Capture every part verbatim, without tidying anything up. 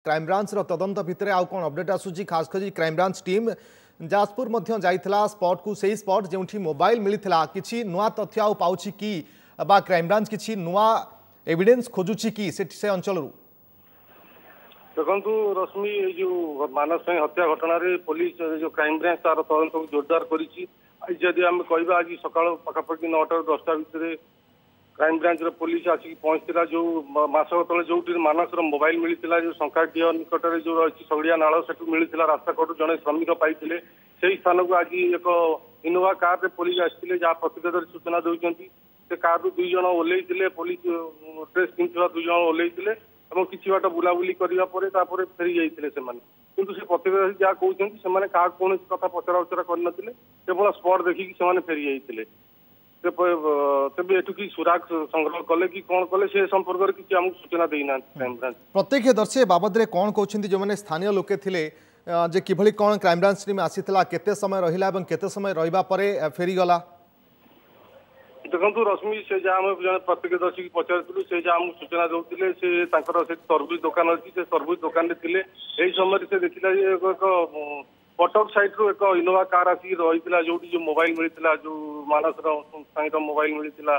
କ୍ରାଇମବ୍ରାଞ୍ଚର ତଦନ୍ତ ଭିତରେ ଆଉ କ'ଣ ଅପଡେଟ୍ ଆସୁଛି? ଖାସ କରି କ୍ରାଇମବ୍ରାଞ୍ଚ ଟିମ୍ ଯାଜପୁର ମଧ୍ୟ ଯାଇଥିଲା ସ୍ପଟକୁ, ସେଇ ସ୍ପଟ ଯେଉଁଠି ମୋବାଇଲ ମିଳିଥିଲା। କିଛି ନୂଆ ତଥ୍ୟ ଆଉ ପାଉଛି କି ବା କ୍ରାଇମବ୍ରାଞ୍ଚ କିଛି ନୂଆ ଏଭିଡେନ୍ସ ଖୋଜୁଛି କି ସେଠି ସେ ଅଞ୍ଚଳରୁ? ଦେଖନ୍ତୁ ରଶ୍ମି, ଏଇ ଯୋଉ ମାନସ ସ୍ୱାଇଁ ହତ୍ୟା ଘଟଣାରେ ପୋଲିସ, ଯୋଉ କ୍ରାଇମବ୍ରାଞ୍ଚ ତାର ତଦନ୍ତକୁ ଜୋରଦାର କରିଛି। ଆଜି ଯଦି ଆମେ କହିବା, ଆଜି ସକାଳ ପାଖାପାଖି ନଅଟାରୁ ଦଶଟା ଭିତରେ କ୍ରାଇମବ୍ରାଞ୍ଚର ପୋଲିସ ଆସିକି ପହଞ୍ଚିଥିଲା ଯୋଉ ମାସକ ତଳେ ଯୋଉଠି ମାନସର ମୋବାଇଲ ମିଳିଥିଲା, ଯୋଉ ଶଙ୍ଖାଡିହ ନିକଟରେ ଯୋଉ ରହିଛି ସଗଡିଆ ନାଳ, ସେଠୁ ମିଳିଥିଲା, ରାସ୍ତା କଡୁ ଜଣେ ଶ୍ରମିକ ପାଇଥିଲେ। ସେଇ ସ୍ଥାନକୁ ଆଜି ଏକ ଇନୋଭା କାରରେ ପୋଲିସ ଆସିଥିଲେ, ଯାହା ପ୍ରତ୍ୟକ୍ଷଦର୍ଶୀ ସୂଚନା ଦେଉଛନ୍ତି। ସେ କାରରୁ ଦୁଇ ଜଣ ଓହ୍ଲେଇଥିଲେ, ପୋଲିସ ଡ୍ରେସ୍ ପିନ୍ଧୁଥିବା ଦୁଇ ଜଣ ଓହ୍ଲେଇଥିଲେ ଏବଂ କିଛି ବାଟ ବୁଲାବୁଲି କରିବା ପରେ ତାପରେ ଫେରି ଯାଇଥିଲେ ସେମାନେ। କିନ୍ତୁ ସେ ପ୍ରତ୍ୟକ୍ଷଦର୍ଶୀ ଯାହା କହୁଛନ୍ତି, ସେମାନେ କାହାକୁ କୌଣସି କଥା ପଚରା ଉଚରା କରିନଥିଲେ, କେବଳ ସ୍ପଟ ଦେଖିକି ସେମାନେ ଫେରି ଯାଇଥିଲେ। ତେବେ ଏଠୁ କି ସୁରାଗ ସଂଗ୍ରହ କଲେ କି କଣ କଲେ, ସେ ସମ୍ପର୍କରେ କିଛି ଆମକୁ ସୂଚନା ଦେଇନାହାନ୍ତି କ୍ରାଇମବ୍ରାଞ୍ଚ। ପ୍ରତ୍ୟକ୍ଷଦର୍ଶୀ ଏ ବାବଦରେ କ'ଣ କହୁଛନ୍ତି, ଯେଉଁମାନେ ସ୍ଥାନୀୟ ଲୋକେ ଥିଲେ, ଯେ କିଭଳି କ'ଣ କ୍ରାଇମବ୍ରାଞ୍ଚ ଟିମ୍ ଆସିଥିଲା, କେତେ ସମୟ ରହିଲା ଏବଂ କେତେ ସମୟ ରହିବା ପରେ ଫେରିଗଲା? ଦେଖନ୍ତୁ ରଶ୍ମି, ସେ ଯାହା ଆମେ ଜଣେ ପ୍ରତ୍ୟକ୍ଷଦର୍ଶୀକି ପଚାରିଥିଲୁ, ସେ ଯାହା ଆମକୁ ସୂଚନା ଦଉଥିଲେ, ସେ ତାଙ୍କର ସେ ତରଭୁଜ ଦୋକାନ ଅଛି, ସେ ତରଭୁଜ ଦୋକାନରେ ଥିଲେ। ଏହି ସମୟରେ ସେ ଦେଖିଲା ଯେ ଏକ କଟକ ସାଇଡରୁ ଏକ ଇନୋଭା କାର ଆସିକି ରହିଥିଲା ଯୋଉଠି ଯୋଉ ମୋବାଇଲ ମିଳିଥିଲା, ଯୋଉ ମାନସର ସ୍ୱାଇଁର ମୋବାଇଲ ମିଳିଥିଲା,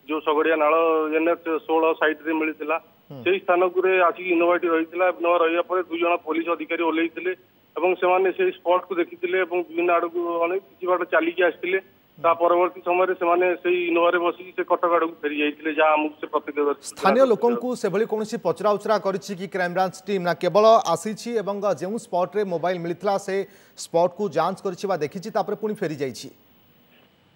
ଯୋଉ ସଗଡିଆ ନାଳ ଏନ୍ଏଚ୍ ଷୋହଳ ସାଇଡରେ ମିଳିଥିଲା, ସେଇ ସ୍ଥାନକୁରେ ଆସିକି ଇନୋଭାଟି ରହିଥିଲା। ଇନୋଭା ରହିବା ପରେ ଦୁଇ ଜଣ ପୋଲିସ ଅଧିକାରୀ ଓହ୍ଲେଇଥିଲେ ଏବଂ ସେମାନେ ସେଇ ସ୍ପଟକୁ ଦେଖିଥିଲେ ଏବଂ ବିଭିନ୍ନ ଆଡକୁ ଅନେକ କିଛି ବାଟ ଚାଲିକି ଆସିଥିଲେ। ତା ପରବର୍ତ୍ତୀ ସମୟରେ ସେମାନେ ସେଇ ଇନୋଭାରେ ବସିକି ସେ କଟକ ଆଡକୁ ଫେରି ଯାଇଥିଲେ, ଯାହା ଆମକୁ ସେ ପ୍ରତ୍ୟକ୍ଷ ସ୍ଥାନୀୟ ଲୋକଙ୍କୁ ସେଭଳି କୌଣସି ପଚରା ଉଚରା କରିଛି କି କ୍ରାଇମବ୍ରାଞ୍ଚ ଟିମ୍, ନା କେବଳ ଆସିଛି ଏବଂ ଯେଉଁ ସ୍ପଟରେ ମୋବାଇଲ ମିଳିଥିଲା ସେ ସ୍ପଟକୁ ଯାଞ୍ଚ କରିଛି ବା ଦେଖିଛି, ତାପରେ ପୁଣି ଫେରି ଯାଇଛି?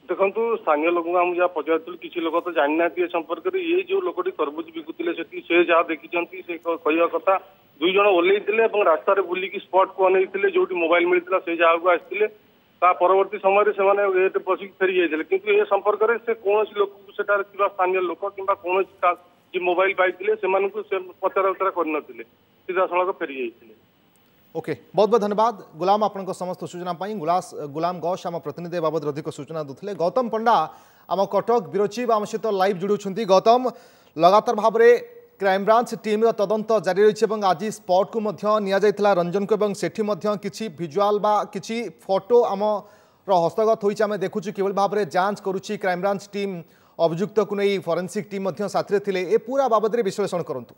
ଦେଖନ୍ତୁ, ସ୍ଥାନୀୟ ଲୋକଙ୍କୁ ଆମେ ଯାହା ପଚାରିଥିଲୁ, କିଛି ଲୋକ ତ ଜାଣିନାହାନ୍ତି ଏ ସମ୍ପର୍କରେ। ଏଇ ଯୋଉ ଲୋକଟି ତରଭୁଜ ବିକୁଥିଲେ ସେଠି, ସେ ଯାହା ଦେଖିଛନ୍ତି, ସେ କହିବା କଥା ଦୁଇ ଜଣ ଓହ୍ଲେଇଥିଲେ ଏବଂ ରାସ୍ତାରେ ବୁଲିକି ସ୍ପଟକୁ ଅନେଇଥିଲେ, ଯୋଉଠି ମୋବାଇଲ ମିଳିଥିଲା ସେଇ ଜାଗାକୁ ଆସିଥିଲେ। ତା ପରବର୍ତ୍ତୀ ସମୟରେ ସେମାନେ ଏଠି ବସିକି ଫେରି ଯାଇଥିଲେ। କିନ୍ତୁ ଏ ସମ୍ପର୍କରେ ସେ କୌଣସି ଲୋକକୁ, ସେଠାରେ ଥିବା ସ୍ଥାନୀୟ ଲୋକ କିମ୍ବା କୌଣସି ଯିଏ ମୋବାଇଲ ପାଇଥିଲେ, ସେମାନଙ୍କୁ ସେ ପଚରା ଉଚରା କରିନଥିଲେ, ସିଧାସଳଖ ଫେରି ଯାଇଥିଲେ। ଓକେ, ବହୁତ ବହୁତ ଧନ୍ୟବାଦ ଗୁଲାମ ଆପଣଙ୍କ ସମସ୍ତ ସୂଚନା ପାଇଁ। ଗୁଲାସ ଗୁଲାମ ଗୌଶ ଆମ ପ୍ରତିନିଧି ବାବଦରେ ଅଧିକ ସୂଚନା ଦେଉଥିଲେ। ଗୌତମ ପଣ୍ଡା ଆମ କଟକ ବ୍ୟୁରୋ ଚିଫ୍ ଆମ ସହିତ ଲାଇଭ୍ ଯୋଡ଼ୁଛନ୍ତି। ଗୌତମ, ଲଗାତାର ଭାବରେ କ୍ରାଇମବ୍ରାଞ୍ଚ ଟିମ୍ର ତଦନ୍ତ ଜାରି ରହିଛି ଏବଂ ଆଜି ସ୍ପଟକୁ ମଧ୍ୟ ନିଆଯାଇଥିଲା ରଞ୍ଜନକୁ ଏବଂ ସେଠି ମଧ୍ୟ କିଛି ଭିଜୁଆଲ ବା କିଛି ଫଟୋ ଆମର ହସ୍ତଗତ ହୋଇଛି। ଆମେ ଦେଖୁଛୁ କିଭଳି ଭାବରେ ଯାଞ୍ଚ କରୁଛି କ୍ରାଇମବ୍ରାଞ୍ଚ ଟିମ୍ ଅଭିଯୁକ୍ତକୁ ନେଇ, ଫରେନ୍ସିକ୍ ଟିମ୍ ମଧ୍ୟ ସାଥିରେ ଥିଲେ। ଏ ପୁରା ବାବଦରେ ବିଶ୍ଳେଷଣ କରନ୍ତୁ।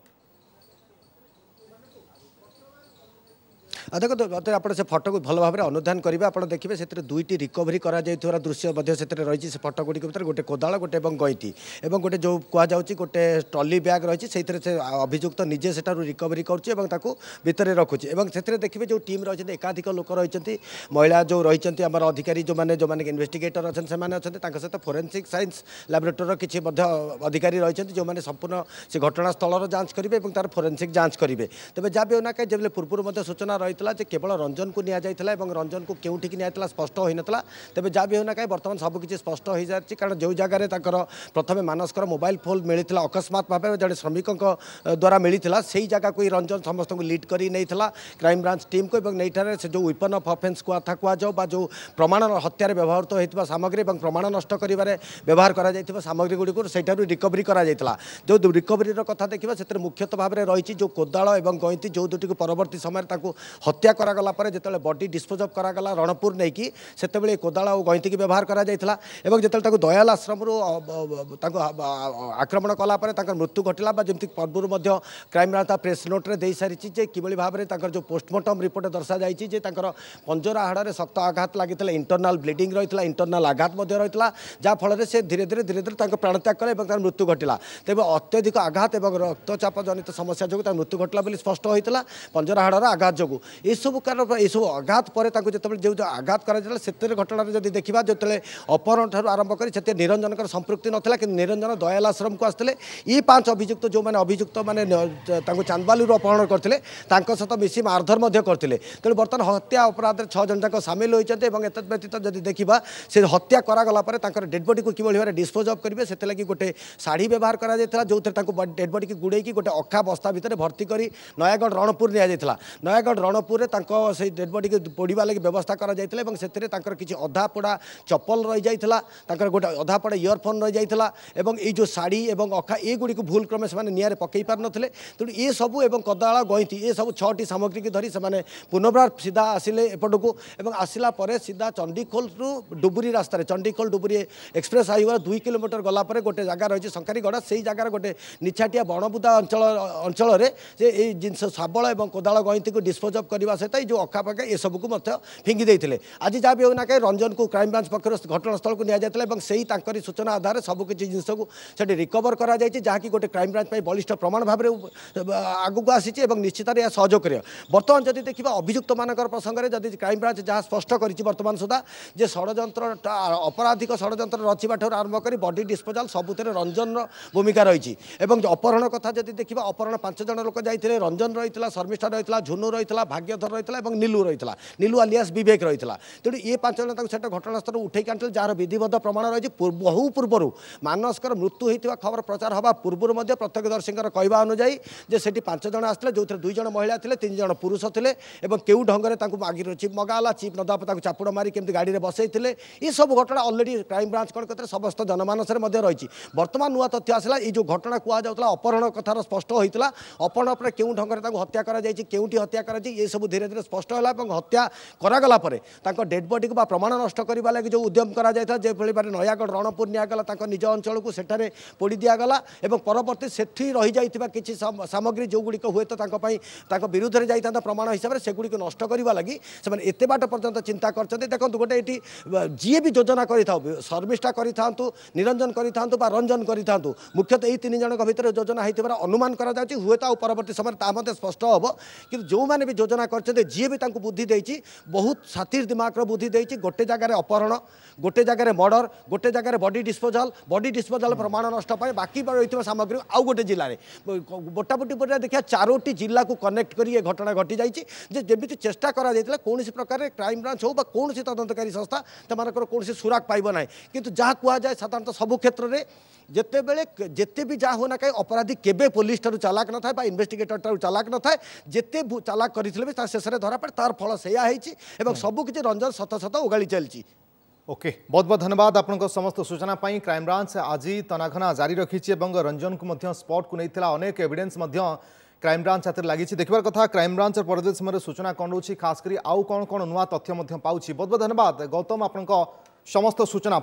ଦେଖନ୍ତୁ, ମୋତେ ଆପଣ ସେ ଫଟୋକୁ ଭଲ ଭାବରେ ଅନୁଧ୍ୟାନ କରିବେ, ଆପଣ ଦେଖିବେ ସେଥିରେ ଦୁଇଟି ରିକଭରି କରାଯାଇଥିବାର ଦୃଶ୍ୟ ମଧ୍ୟ ସେଥିରେ ରହିଛି। ସେ ଫଟୋ ଗୁଡ଼ିକ ଭିତରେ ଗୋଟେ କୋଦାଳ ଗୋଟେ ଏବଂ ଗଇଁତି ଏବଂ ଗୋଟେ ଯେଉଁ କୁହାଯାଉଛି ଗୋଟେ ଟ୍ରଲି ବ୍ୟାଗ୍ ରହିଛି, ସେଇଥିରେ ସେ ଅଭିଯୁକ୍ତ ନିଜେ ସେଠାରୁ ରିକଭରି କରୁଛି ଏବଂ ତାକୁ ଭିତରେ ରଖୁଛି। ଏବଂ ସେଥିରେ ଦେଖିବେ ଯେଉଁ ଟିମ୍ ରହିଛନ୍ତି, ଏକାଧିକ ଲୋକ ରହିଛନ୍ତି, ମହିଳା ଯେଉଁ ରହିଛନ୍ତି, ଆମର ଅଧିକାରୀ ଯେଉଁମାନେ ଯେଉଁମାନେ ଇନଭେଷ୍ଟିଗେଟର ଅଛନ୍ତି ସେମାନେ ଅଛନ୍ତି, ତାଙ୍କ ସହିତ ଫୋରେନ୍ସିକ୍ ସାଇନ୍ସ ଲାବୋରେଟୋରୀର କିଛି ମଧ୍ୟ ଅଧିକାରୀ ରହିଛନ୍ତି, ଯେଉଁମାନେ ସମ୍ପୂର୍ଣ୍ଣ ସେ ଘଟଣାସ୍ଥଳର ଯାଞ୍ଚ କରିବେ ଏବଂ ତାର ଫୋରେନ୍ସିକ୍ ଯାଞ୍ଚ କରିବେ। ତେବେ ଯାହା ବି ହେଉନା କାହିଁ, ଯେବେ ପୂର୍ବରୁ ମଧ୍ୟ ସୂଚନା ରହିଥିଲା ଯେ କେବଳ ରଞ୍ଜନକୁ ନିଆଯାଇଥିଲା ଏବଂ ରଞ୍ଜନକୁ କେଉଁଠିକି ନିଆଯାଇଥିଲା ସ୍ପଷ୍ଟ ହୋଇନଥିଲା, ତେବେ ଯାହା ବି ହେଉନା କାହିଁ ବର୍ତ୍ତମାନ ସବୁକିଛି ସ୍ପଷ୍ଟ ହୋଇସାରିଛି। କାରଣ ଯେଉଁ ଜାଗାରେ ତାଙ୍କର ପ୍ରଥମେ ମାନସଙ୍କର ମୋବାଇଲ ଫୋନ୍ ମିଳିଥିଲା, ଅକସ୍ମାତ ଭାବେ ଜଣେ ଶ୍ରମିକଙ୍କ ଦ୍ୱାରା ମିଳିଥିଲା, ସେଇ ଜାଗାକୁ ହିଁ ରଞ୍ଜନ ସମସ୍ତଙ୍କୁ ଲିଡ୍ କରି ନେଇଥିଲା କ୍ରାଇମବ୍ରାଞ୍ଚ ଟିମ୍କୁ। ଏବଂ ନେଇଠାରେ ସେ ଯେଉଁ ୱିପନ୍ ଅଫ୍ ଅଫେନ୍ସ କଥା କୁହାଯାଉ ବା ଯେଉଁ ପ୍ରମାଣ ହତ୍ୟାରେ ବ୍ୟବହୃତ ହୋଇଥିବା ସାମଗ୍ରୀ ଏବଂ ପ୍ରମାଣ ନଷ୍ଟ କରିବାରେ ବ୍ୟବହାର କରାଯାଇଥିବା ସାମଗ୍ରୀ ଗୁଡ଼ିକୁ ସେଇଠାରୁ ରିକଭରି କରାଯାଇଥିଲା। ଯେଉଁ ରିକଭରିର କଥା ଦେଖିବା, ସେଥିରେ ମୁଖ୍ୟତଃ ଭାବରେ ରହିଛି ଯେଉଁ କୋଦାଳ ଏବଂ ଗଇଁତି, ଯେଉଁ ଦୁଟିକୁ ପରବର୍ତ୍ତୀ ସମୟରେ ତାଙ୍କୁ ହତ୍ୟା କରାଗଲା ପରେ ଯେତେବେଳେ ବଡି ଡିସ୍ପୋଜ୍ ଅଫ୍ କରାଗଲା ରଣପୁର ନେଇକି, ସେତେବେଳେ କୋଦାଳ ଆଉ ଗଇଁତିକି ବ୍ୟବହାର କରାଯାଇଥିଲା। ଏବଂ ଯେତେବେଳେ ତାକୁ ଦୟାଲ ଆଶ୍ରମରୁ ତାଙ୍କୁ ଆକ୍ରମଣ କଲା ପରେ ତାଙ୍କର ମୃତ୍ୟୁ ଘଟିଲା, ବା ଯେମିତି ପୂର୍ବରୁ ମଧ୍ୟ କ୍ରାଇମବ୍ରାଞ୍ଚ ତା ପ୍ରେସ୍ ନୋଟ୍ରେ ଦେଇସାରିଛି ଯେ କିଭଳି ଭାବରେ ତାଙ୍କର ଯେଉଁ ପୋଷ୍ଟମର୍ଟମ୍ ରିପୋର୍ଟ ଦର୍ଶାଯାଇଛି ଯେ ତାଙ୍କର ପଞ୍ଜରା ହାଡ଼ରେ ଶକ୍ତ ଆଘାତ ଲାଗିଥିଲା, ଇଣ୍ଟରନାଲ୍ ବ୍ଲିଡ଼ିଂ ରହିଥିଲା, ଇଣ୍ଟରନାଲ୍ ଆଘାତ ମଧ୍ୟ ରହିଥିଲା, ଯାହାଫଳରେ ସେ ଧୀରେ ଧୀରେ ଧୀରେ ଧୀରେ ତାଙ୍କ ପ୍ରାଣତ୍ୟାଗ କଲେ ଏବଂ ତାର ମୃତ୍ୟୁ ଘଟିଲା। ତେବେ ଅତ୍ୟଧିକ ଆଘାତ ଏବଂ ରକ୍ତଚାପ ଜନିତ ସମସ୍ୟା ଯୋଗୁଁ ତାର ମୃତ୍ୟୁ ଘଟିଲା ବୋଲି ସ୍ପଷ୍ଟ ହୋଇଥିଲା, ପଞ୍ଜରା ହାଡ଼ର ଆଘାତ ଯୋଗୁଁ। ଏସବୁ କାରଣ, ଏସବୁ ଆଘାତ ପରେ ତାଙ୍କୁ ଯେତେବେଳେ ଯେଉଁ ଆଘାତ କରାଯାଇଥିଲା, ସେଥିରେ ଘଟଣାରେ ଯଦି ଦେଖିବା, ଯେତେବେଳେ ଅପହରଣ ଠାରୁ ଆରମ୍ଭ କରି ସେଥିରେ ନିରଞ୍ଜନଙ୍କର ସମ୍ପୃକ୍ତି ନଥିଲା, କିନ୍ତୁ ନିରଞ୍ଜନ ଦୟାଲ ଆଶ୍ରମକୁ ଆସିଥିଲେ। ଏଇ ପାଞ୍ଚ ଅଭିଯୁକ୍ତ, ଯେଉଁମାନେ ଅଭିଯୁକ୍ତ ମାନେ ତାଙ୍କୁ ଚାନ୍ଦବାଲିରୁ ଅପହରଣ କରିଥିଲେ, ତାଙ୍କ ସହିତ ମିଶି ମାରଧର ମଧ୍ୟ କରିଥିଲେ। ତେଣୁ ବର୍ତ୍ତମାନ ହତ୍ୟା ଅପରାଧରେ ଛଅ ଜଣ ଯାକ ସାମିଲ ହୋଇଛନ୍ତି। ଏବଂ ଏତଦ୍ ବ୍ୟତୀତ ଯଦି ଦେଖିବା, ସେ ହତ୍ୟା କରାଗଲା ପରେ ତାଙ୍କର ଡେଡ୍ ବଡିକୁ କିଭଳି ଭାବରେ ଡିସ୍ପୋଜ୍ ଅଫ୍ କରିବେ, ସେଥିଲାଗି ଗୋଟେ ଶାଢ଼ୀ ବ୍ୟବହାର କରାଯାଇଥିଲା, ଯେଉଁଥିରେ ତାଙ୍କୁ ଡେଡ୍ ବଡିକି ଗୁଡ଼େଇକି ଗୋଟେ ଅଖା ବସ୍ତା ଭିତରେ ଭର୍ତ୍ତି କରି ନୟାଗଡ଼ ରଣପୁର ନିଆଯାଇଥିଲା। ନୟାଗଡ଼ ରଣପୁର ରଣପୁରରେ ତାଙ୍କ ସେଇ ଡେଡ୍ ବଡିକୁ ପୋଡ଼ିବା ଲାଗି ବ୍ୟବସ୍ଥା କରାଯାଇଥିଲା ଏବଂ ସେଥିରେ ତାଙ୍କର କିଛି ଅଧା ପୋଡ଼ା ଚପଲ ରହିଯାଇଥିଲା, ତାଙ୍କର ଗୋଟେ ଅଧା ପୋଡ଼ା ଇୟରଫୋନ୍ ରହିଯାଇଥିଲା ଏବଂ ଏଇ ଯେଉଁ ଶାଢ଼ୀ ଏବଂ ଅଖା ଏଗୁଡ଼ିକୁ ଭୁଲ କ୍ରମେ ସେମାନେ ନିଆଁରେ ପକାଇ ପାରିନଥିଲେ। ତେଣୁ ଏସବୁ ଏବଂ କୋଦାଳ ଗଇଁତି ଏସବୁ ଛଅଟି ସାମଗ୍ରୀକି ଧରି ସେମାନେ ପୁନର୍ବାର ସିଧା ଆସିଲେ ଏପଟକୁ ଏବଂ ଆସିଲା ପରେ ସିଧା ଚଣ୍ଡିଖୋଲରୁ ଡୁବୁରି ରାସ୍ତାରେ ଚଣ୍ଡିଖୋଲ ଡୁବୁରି ଏକ୍ସପ୍ରେସ୍ ହାଇୱେ ଦୁଇ କିଲୋମିଟର ଗଲା ପରେ ଗୋଟେ ଜାଗା ରହିଛି ଶଙ୍କାରୀଗଡ଼, ସେଇ ଜାଗାରେ ଗୋଟେ ନିଛାଟିଆ ବଣବୁଦା ଅଞ୍ଚଳ ଅଞ୍ଚଳରେ ସେ ଏଇ ଜିନିଷ ଶାବଳ ଏବଂ କୋଦାଳ ଗଇଁତିକୁ ଡିସ୍ପୋଜ୍ ଅଫ୍ କରିବା ସହିତ ଏଇ ଯେଉଁ ଅଖାପାଖା ଏସବୁକୁ ମଧ୍ୟ ଫିଙ୍ଗି ଦେଇଥିଲେ। ଆଜି ଯାହା ବି ହେଉ ନା କାହିଁ ରଞ୍ଜନକୁ କ୍ରାଇମବ୍ରାଞ୍ଚ ପକ୍ଷରୁ ଘଟଣାସ୍ଥଳକୁ ନିଆଯାଇଥିଲା ଏବଂ ସେଇ ତାଙ୍କରି ସୂଚନା ଆଧାରରେ ସବୁକିଛି ଜିନିଷକୁ ସେଠି ରିକଭର କରାଯାଇଛି, ଯାହାକି ଗୋଟେ କ୍ରାଇମବ୍ରାଞ୍ଚ ପାଇଁ ବଳିଷ୍ଠ ପ୍ରମାଣ ଭାବରେ ଆଗକୁ ଆସିଛି ଏବଂ ନିଶ୍ଚିତରେ ଏହା ସହଯୋଗ କରିବ। ବର୍ତ୍ତମାନ ଯଦି ଦେଖିବା ଅଭିଯୁକ୍ତମାନଙ୍କର ପ୍ରସଙ୍ଗରେ ଯଦି କ୍ରାଇମବ୍ରାଞ୍ଚ ଯାହା ସ୍ପଷ୍ଟ କରିଛି ବର୍ତ୍ତମାନ ସୁଦ୍ଧା ଯେ ଷଡ଼ଯନ୍ତ୍ର ଅପରାଧିକ ଷଡ଼ଯନ୍ତ୍ର ରଚିବା ଠାରୁ ଆରମ୍ଭ କରି ବଡି ଡିସ୍ପୋଜାଲ ସବୁଥିରେ ରଞ୍ଜନର ଭୂମିକା ରହିଛି ଏବଂ ଅପହରଣ କଥା ଯଦି ଦେଖିବା ଅପହରଣ ପାଞ୍ଚ ଜଣ ଲୋକ ଯାଇଥିଲେ, ରଞ୍ଜନ ରହିଥିଲା, ଶର୍ମିଷ୍ଠା ରହିଥିଲା, ଝୁନୁ ରହିଥିଲା, ଭାଗ୍ୟଧର ରହିଥିଲା ଏବଂ ନୀଲୁ ରହିଥିଲା, ନୀଲୁ ଆଲିଆସ୍ ବିବେକ ରହିଥିଲା। ତେଣୁ ଏ ପାଞ୍ଚ ଜଣ ତାକୁ ସେଟା ଘଟଣାସ୍ଥଳରୁ ଉଠେଇକି ଆଣିଥିଲେ, ଯାହାର ବିଧିବଦ୍ଧ ପ୍ରମାଣ ରହିଛି। ବହୁ ପୂର୍ବରୁ ମାନସଙ୍କର ମୃତ୍ୟୁ ହୋଇଥିବା ଖବର ପ୍ରଚାର ହେବା ପୂର୍ବରୁ ମଧ୍ୟ ପ୍ରତ୍ୟକ୍ଷଦର୍ଶୀଙ୍କର କହିବା ଅନୁଯାୟୀ ଯେ ସେଠି ପାଞ୍ଚ ଜଣ ଆସିଥିଲେ, ଯେଉଁଥିରେ ଦୁଇ ଜଣ ମହିଳା ଥିଲେ, ତିନି ଜଣ ପୁରୁଷ ଥିଲେ ଏବଂ କେଉଁ ଢଙ୍ଗରେ ତାଙ୍କୁ ମାଗି ଚିପ୍ ମଗା ହେଲା, ଚିପ୍ ନଦେବା ପରେ ତାକୁ ଚାପୁଡ଼ ମାରି କେମିତି ଗାଡ଼ିରେ ବସେଇଥିଲେ, ଏସବୁ ଘଟଣା ଅଲରେଡ଼ି କ୍ରାଇମବ୍ରାଞ୍ଚ କ'ଣ କରିଥିଲେ ସମସ୍ତ ଜନମାନସରେ ମଧ୍ୟ ରହିଛି। ବର୍ତ୍ତମାନ ନୂଆ ତଥ୍ୟ ଆସିଲା, ଏଇ ଯେଉଁ ଘଟଣା କୁହାଯାଉଥିଲା ଅପହରଣ କଥାର ସ୍ପଷ୍ଟ ହୋଇଥିଲା, ଅପହରଣ ପରେ କେଉଁ ଢଙ୍ଗରେ ତାଙ୍କୁ ହତ୍ୟା କରାଯାଇଛି, କେଉଁଠି ହତ୍ୟା କରାଯାଇଛି, ଏସବୁ ଧୀରେ ଧୀରେ ସ୍ପଷ୍ଟ ହେଲା ଏବଂ ହତ୍ୟା କରାଗଲା ପରେ ତାଙ୍କ ଡେଡ୍ ବଡିକୁ ବା ପ୍ରମାଣ ନଷ୍ଟ କରିବା ଲାଗି ଯେଉଁ ଉଦ୍ୟମ କରାଯାଇଥିଲା, ଯେଭଳି ଭାବରେ ନୟାଗଡ଼ ରଣପୁର ନିଆଗଲା ତାଙ୍କ ନିଜ ଅଞ୍ଚଳକୁ, ସେଠାରେ ପୋଡ଼ି ଦିଆଗଲା ଏବଂ ପରବର୍ତ୍ତୀ ସେଠି ରହିଯାଇଥିବା କିଛି ସାମଗ୍ରୀ ଯେଉଁଗୁଡ଼ିକ ହୁଏତ ତାଙ୍କ ପାଇଁ ତାଙ୍କ ବିରୁଦ୍ଧରେ ଯାଇଥାନ୍ତା ପ୍ରମାଣ ହିସାବରେ, ସେଗୁଡ଼ିକୁ ନଷ୍ଟ କରିବା ଲାଗି ସେମାନେ ଏତେ ବାଟ ପର୍ଯ୍ୟନ୍ତ ଚିନ୍ତା କରିଛନ୍ତି। ଦେଖନ୍ତୁ ଗୋଟେ ଏଠି ଯିଏ ବି ଯୋଜନା କରିଥାଉ, ଶର୍ମିଷ୍ଠା କରିଥାନ୍ତୁ, ନିରଞ୍ଜନ କରିଥାନ୍ତୁ ବା ରଞ୍ଜନ କରିଥାନ୍ତୁ, ମୁଖ୍ୟତଃ ଏଇ ତିନି ଜଣଙ୍କ ଭିତରେ ଯୋଜନା ହେଇଥିବାର ଅନୁମାନ କରାଯାଉଛି। ହୁଏତ ଆଉ ପରବର୍ତ୍ତୀ ସମୟରେ ତାହା ମଧ୍ୟ ସ୍ପଷ୍ଟ ହେବ, କିନ୍ତୁ ଯେଉଁମାନେ ବି ଯୋଜନା କରିଛନ୍ତି, ଯିଏ ବି ତାଙ୍କୁ ବୁଦ୍ଧି ଦେଇଛି, ବହୁତ ସାଥିର ଦିମାଗର ବୁଦ୍ଧି ଦେଇଛି। ଗୋଟେ ଜାଗାରେ ଅପହରଣ, ଗୋଟେ ଜାଗାରେ ମର୍ଡର, ଗୋଟେ ଜାଗାରେ ବଡି ଡିସ୍ପୋଜାଲ, ବଡି ଡିସ୍ପୋଜାଲ ପ୍ରମାଣ ନଷ୍ଟ ପାଇଁ ବାକି ରହିଥିବା ସାମଗ୍ରୀ ଆଉ ଗୋଟେ ଜିଲ୍ଲାରେ, ମୋଟାମୋଟି ପରେ ଦେଖିବା ଚାରୋଟି ଜିଲ୍ଲାକୁ କନେକ୍ଟ କରି ଏ ଘଟଣା ଘଟିଯାଇଛି। ଯେ ଯେମିତି ଚେଷ୍ଟା କରାଯାଇଥିଲା କୌଣସି ପ୍ରକାର କ୍ରାଇମବ୍ରାଞ୍ଚ ହେଉ ବା କୌଣସି ତଦନ୍ତକାରୀ ସଂସ୍ଥା ସେମାନଙ୍କର କୌଣସି ସୁରାକ ପାଇବ ନାହିଁ, କିନ୍ତୁ ଯାହା କୁହାଯାଏ ସାଧାରଣତଃ ସବୁ କ୍ଷେତ୍ରରେ ଯେତେବେଳେ ଯେତେ ବି ଯାହା ହେଉ ନା କାହିଁ ଅପରାଧୀ କେବେ ପୋଲିସ ଠାରୁ ଚାଲାକ ନଥାଏ ବା ଇନଭେଷ୍ଟିଗେଟର ଠାରୁ ଚାଲାକ ନଥାଏ, ଯେତେ ଚାଲାକ କରିଥିଲେ ବି ତା ଶେଷରେ ଧରା ପଡ଼େ। ତାର ଫଳ ସେଇଆ ହେଇଛି ଏବଂ ସବୁକିଛି ରଞ୍ଜନ ସତ ସତ ଓଗାଳି ଚାଲିଛି। ओके, बहुत बहुत धन्यवाद आपंक समस्त सूचना पर। क्राइमब्रांच आज तनाघना जारी रखी रंजन को स्पट को नहीं अनेक एविडेंस क्राइमब्रांच हाथ में लगी। देखिबार कथा क्राइमब्रांच परवर्ती समय सूचना कौन रोचे, खास कर आउ कौन कौन नुआ तथ्य पाଉଛି। बहुत बहुत धन्यवाद गौतम आपंक समस्त सूचना।